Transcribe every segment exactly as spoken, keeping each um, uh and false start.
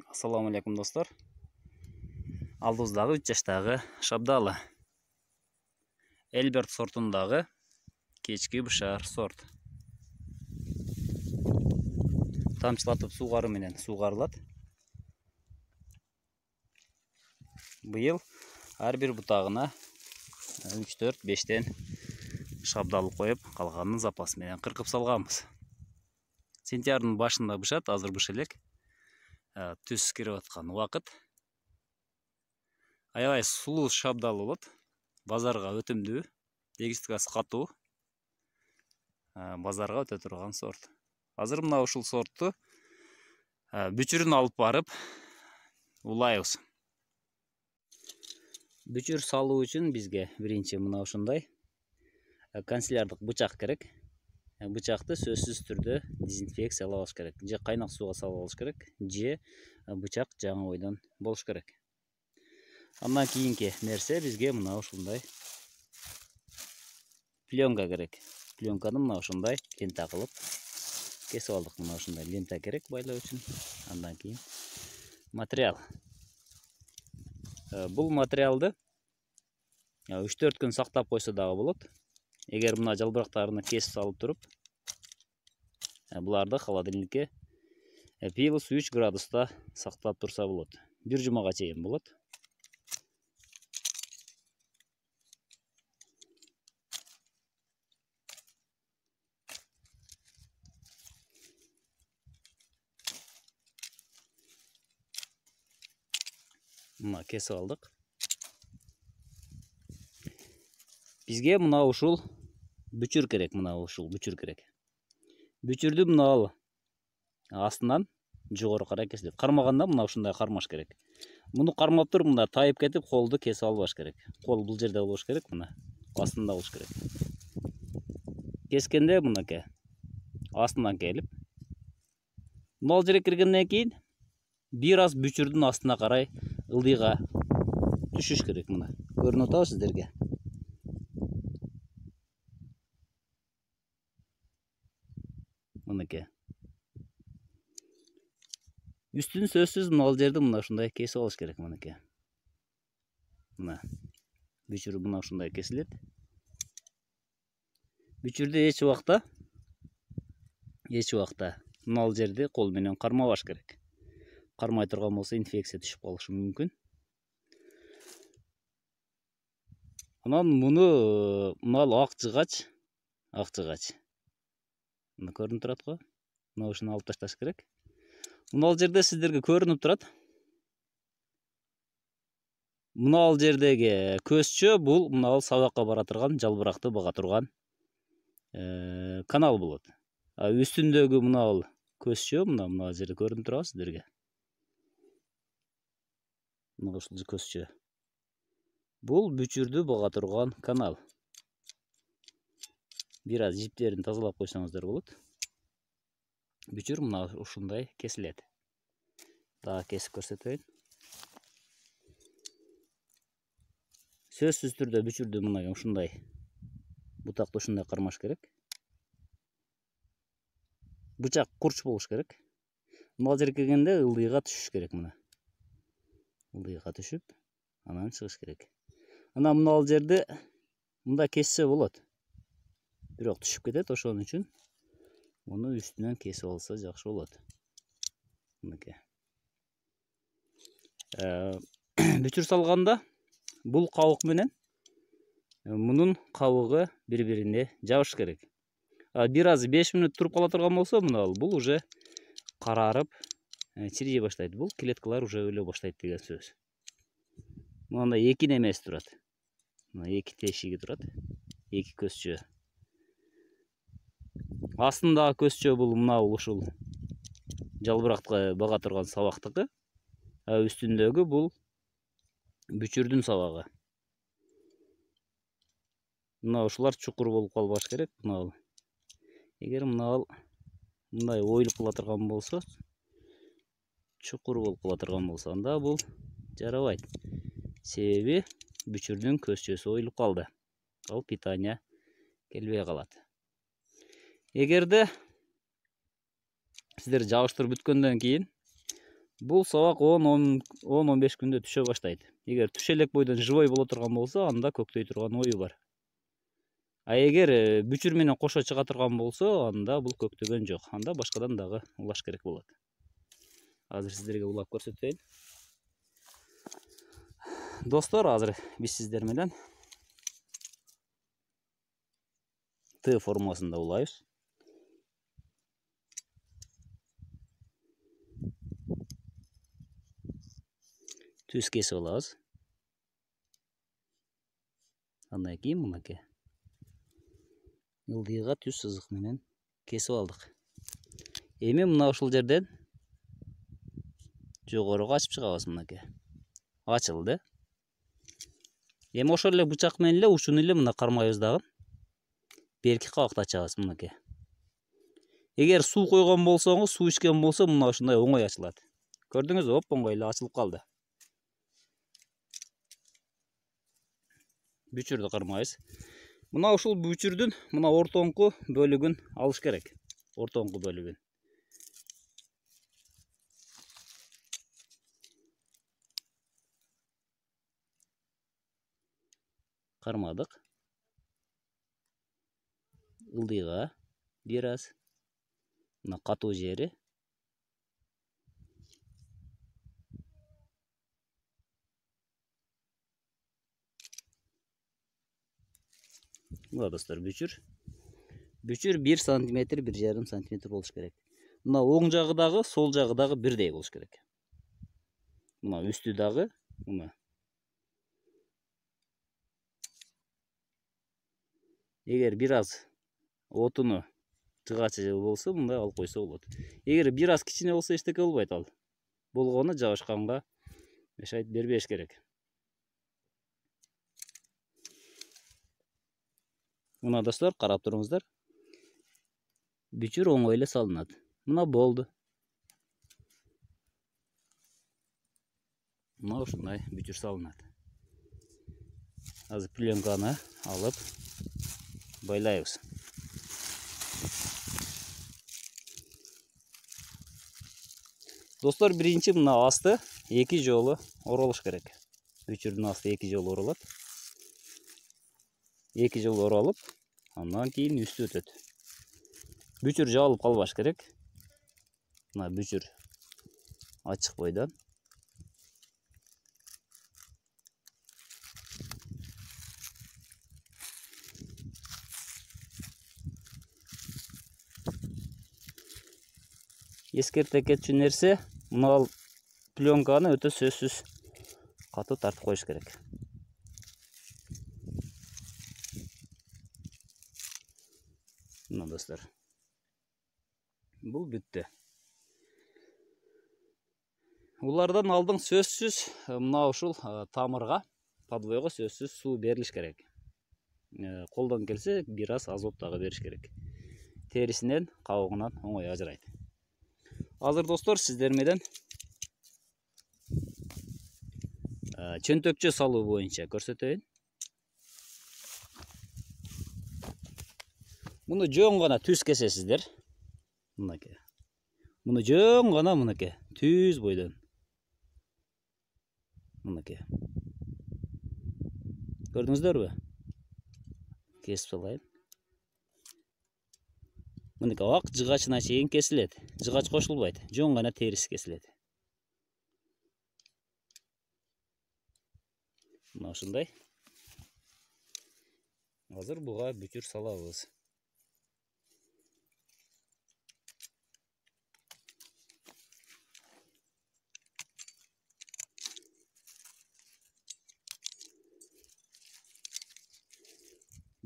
Ассаламу алейкум достор. Алдыбыздагы үч жаштагы шабдалы. Элберт сортундагы кечки бышар сорт. Тамчылатып суугаруу менен суугарылат. Быйыл ар бир бутагына үч төрт бештен шабдалы коюп, калганын запас менен кыркып салганбыз. Сентябрдын башында бышат, азыр быша элек. Түз кирип аткан убакыт. Аябай сулуу шабдалы болот. Базарга өтүмдүү, эгистикасы катуу. Базарга өтө турган сорт. Азыр мына ушул сортту бүчүрүн алып барып улайбыз. Бүчүр салуу үчүн бизге биринчи мына ушундай канцелярдык бычак керек. Бычакты сөзсүз түрдө дезинфекциялап алыш керек. Же кайнак сууга салып алыш керек, же бычак жаңы бойдон болуш керек. Андан кийинки нерсе бизге мына ушундай пленка керек. Пленканы мына ушундай лента кылып кесип алдык. Мына ушундай лента керек байлоо үчүн. Андан кийин материал. Бул материалды үч төрт күн сактап койсо дагы болот. Эгер мына жалбырактарына кесип салып туруп, буларды холодильникке плюс үч градуста сактап турса болот. Бир жумага чейин болот. Мына кесип алдык. Бизге мына ушул бүчүр керек, мына ушул бүчүр керек. Бүчүрдү мына ал астынан жогору карай кесилет. Кармаганда мына ушундай кармаш керек. Муну кармап туруп мында тайып кетип, колду кесип албаш керек. Кол бул жерде болуш керек, мына астында болуш керек. Кескенде мынакей астынан келип, мал жерге киргенден кийин бир аз бүчүрдүн астына карай ылдыйга түшүш керек. Мына көрүнүп атабы сиздерге? Мынакей. Үстүн сөзсүз мына жерди мына ушундай кесип алыш керек. Мынакей. Мына бүчүр мына ушундай кесилет. Бүчүрдү эч убакта эч убакта мына жерди кол менен кармабаш керек. Кармай турган болсо инфекция түшүп калышы мүмкүн. Анан муну мына ак жыгач, ак жыгач. Мына көрүнүп турат го. Мына ушуну алып ташташ керек. Мына жерде сиздерге көрүнүп турат. Мына жердеги көзчө бул мына сабакка бара турган, жалбыракты бага турган канал болот. А үстүндөгү мына көзчө мына мына жерде көрүнүп турабы сиздерге? Мына ушул көзчө. Бул бүчүрдү бага турган канал. Бир аз жиптерин тазалап койсоңуздар болот. Бүчүр мына ушундай кесилет. Дагы кесип көрсөтөйүн. Сөзсүз түрдө бүчүрдү мына ушундай бутакты ушундай кармаш керек. Бычак курч болуш керек. Мына жерге келгенде ылдыйга түшүш керек. Мына ылдыйга түшүп, анан чыгыш керек. Анан мына жерди мында кессе болот. Бирок түшүп кетет, ошон үчүн муну үстүнөн кесип алса жакшы болот. Мынакей. Бүчүр салганда бул кабык менен мунун кабыгы бири-бирине жабыш керек. Бир аз беш мүнөт туруп кала турган болсо, мына бул уже карарып, чирие баштайт. Бул клеткалар уже өлө баштайт деген сөз. Мында эки немеси турат. Мына эки тешиги турат. Эки көзчө. Астындагы көзчө бул мына ушул жалбыракты бага турган сабактыкы. А үстүндөгү бул бүчүрдүн сабагы. Мына ушулар чукур болуп калбаш керек. Мына эгер мына мындай оюлуп кала турган болсо, чукур болуп кала турган болсо, анда бул жарабайт. Себеби бүчүрдүн көзчөсү оюлуп калды. Ал питание келбей калат. Эгерде сиздер жабыштырып бүткөндөн кийин Бул сабак он он беш күндө түшө баштайт. Эгер түшө элек бойдон живой боло турган болсо, анда көктөй турган ою бар. А эгер бүчүр менен кошо чыга турган болсо, анда бул көктөгөн жок. Анда башкадан дагы улаш керек болот. Азыр сиздерге улап көрсөтөйүн. Достор, азыр биз сиздер менен Т формасында улайбыз. Түз кесип алабыз. Андан кийин мынакей ылдыйга түз сызык менен кесип алдык. Эми мына ушул жерден жогоруга ачып чыгабыз. Мынакей ачылды. Эми ошол эле бычак менен эле учун эле мына кармайбыз дагы. Берки кабакты ачабыз. Мынакей. Эгер суу койгон болсоңуз, суу ичкен болсо, мына ушундай оңой ачылат. Көрдүңүзбү? Оп оңой эле ачылып калды. Бүчүрдү кармайбыз. Мына ушул бүчүрдүн мына ортоңку бөлүгүн алыш керек. Ортоңку бөлүгүн. Кармадык. Ылдыйга бир аз. Мына катуу жери. Мына достор, бүчүр. Бүчүр бир сантиметр, бир жарым сантиметр болуш керек. Мына оң жагы дагы, сол жагы дагы бирдей болуш керек. Мына үстү дагы, мына. Эгер бир аз отуну жыгачы болсо, мындай алып койсо болот. Эгер бир аз кичине болсо, эчтеке болбойт ал. Болгону жабышканга мешать бербеш керек. Мына достор, карап туруңуздар. Бүчүр оңой эле салынат. Мына болду. Мына ушундай бүчүр салынат. Азыр пленканы алып байлайбыз. Достор, биринчи мына асты эки жолу оролуш керек. Бүчүрдүн асты эки жолу оролот. эки жолу оролуп, андан кийин үстү өтөт. Бүчүр жабылып калбаш керек. Мына бүчүр ачык бойдон. Эскерте кетчү нерсе, мына пленканы өтө сөзсүз катуу тартып коюш керек. Мына достор. Бул бүттү. Улардан алдың сөзсүз мына ушул тамырга, подвойго сөзсүз суу берилиш керек. Колдон келсе, бир аз азот дагы бериш керек. Терисинен, кабыгынан оңой ажырайт. Азыр достор, сиздер менен чөнтөкчө салуу боюнча көрсөтөйүн. Муну жөн гана түз кесесиздер. Мынакей. Муну жөн гана мынакей, түз бойдон. Мынакей. Көрдүңүздөрбү? Кесип салайын. Мынакей ак жыгачына чейин кесилет. Жыгач кошулбайт, жөн гана териси кесилет. Мына ушундай. Азыр буга бүчүр салабыз.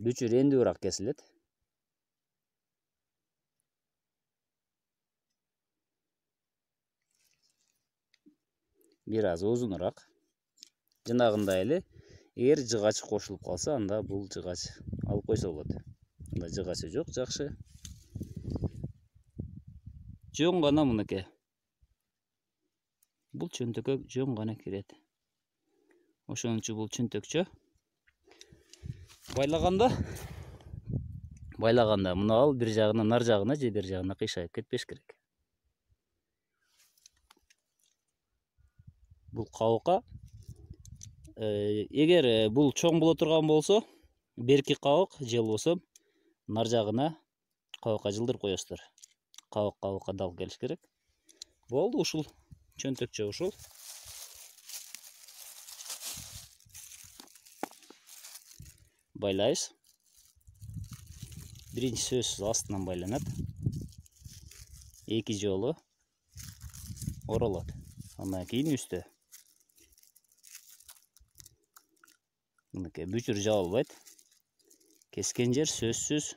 Бүчүр энди бирок кесилет. Бир аз узунураак. Жанагындай эле, эгер жыгач кошулуп калса, анда бул жыгач алып койсо болот. Анда жыгачы жок, жакшы. Жөн гана мынакей. Бул чөнтөккө жөн гана кирет. Ошон үчүн бул чөнтөкчө. Байлаганда, байлаганда мына ал бир жагынан нар жагына же бир жагына кыйшайып кетпеш керек. бул кабыкка. Эгер бул чоң боло турган болсо, берки кабык же болбосо нар жагына кабыкка жылдырып коесуздар. Кабык кабыкка дал келиш керек. Болду, ушул чөнтөкчө ушул. Байлайбыз. Биринчи сөзсүз астынан байланат. Эки жолу оролот. Андан кийин үстө. Мынакей бүчүр жабылбайт. Кескен жер сөзсүз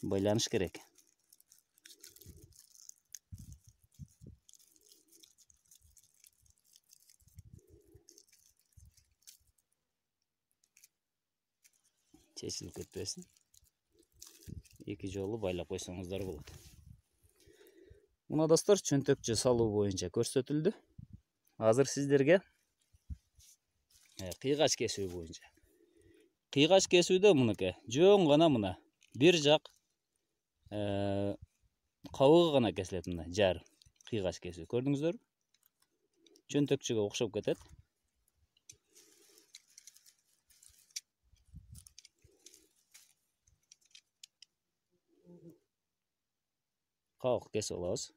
байланыш керек. Чечилип кетпесин. Эки жолу байлап койсоңуздар болот. Мына достор, чөнтөкчө салуу боюнча көрсөтүлдү. Азыр сиздерге кыйгач кесүү боюнча. Кыйгач кесүүдө мынакей жөн гана мына бир жак кабыгы гана кесилет, мына жар кыйгач кесүү. Көрдүңүздөрбү? Чөнтөкчөгө окшоп кетет. Кабык кесип алабыз.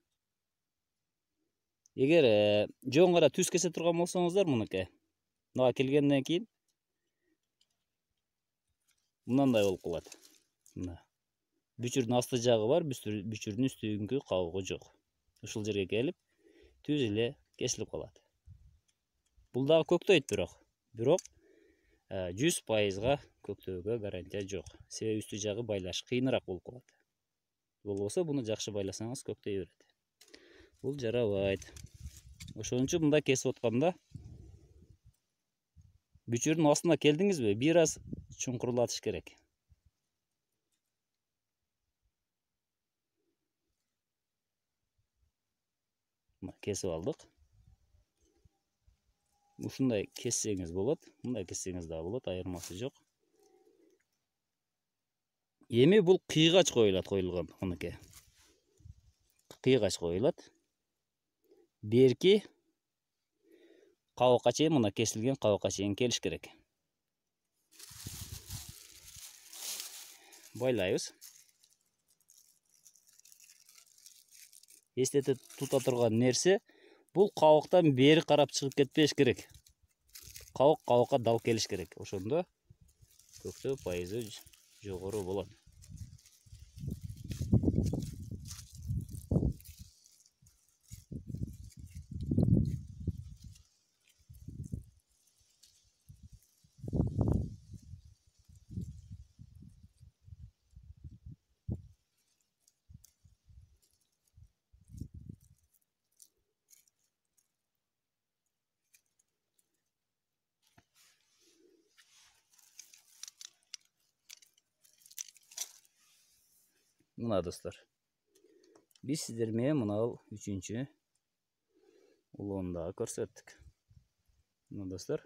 Эгер жөн гана түз кесе турган болсоңуздар, мынакей мына келгенден кийин мындай болуп калат. Мына бүчүрдүн асты жагы бар, бүчүрдүн үстүнгү кабыгы жок. Ушул жерге келип түз эле кесилип калат. Бул дагы көктөйт, бирок бирок жүз пайызга көктөөгө гарантия жок. Себеби үстү жагы байлаш кыйыныраак болуп калат. Болбосо буну жакшы байласаңыз көктөй берет. Бул жарабайт. Ошон үчүн мындай кесип атканда бүчүрдүн астына келдиңизби, бир аз чуңкурлатыш керек. Кесип алдык. Ушундай кессеңиз болот, мындай кессеңиз да болот, айырмасы жок. Эми бул кыйгач коюлат, коюлган, мынакей. Кыйгач коюлат. Берки кабыкка чейин, мына кесилген кабыкка чейин келиш керек. Байлайбыз. Эстете тута турган нерсе, бул кабыктан бери карап чыгып кетпеш керек. Кабык кабыкка дал келиш керек. Ошондо көктөө пайызы жогору болот. Мына достор, биз сиздер менен мына үчүнчү улоону дагы көрсөттүк. Мына достор,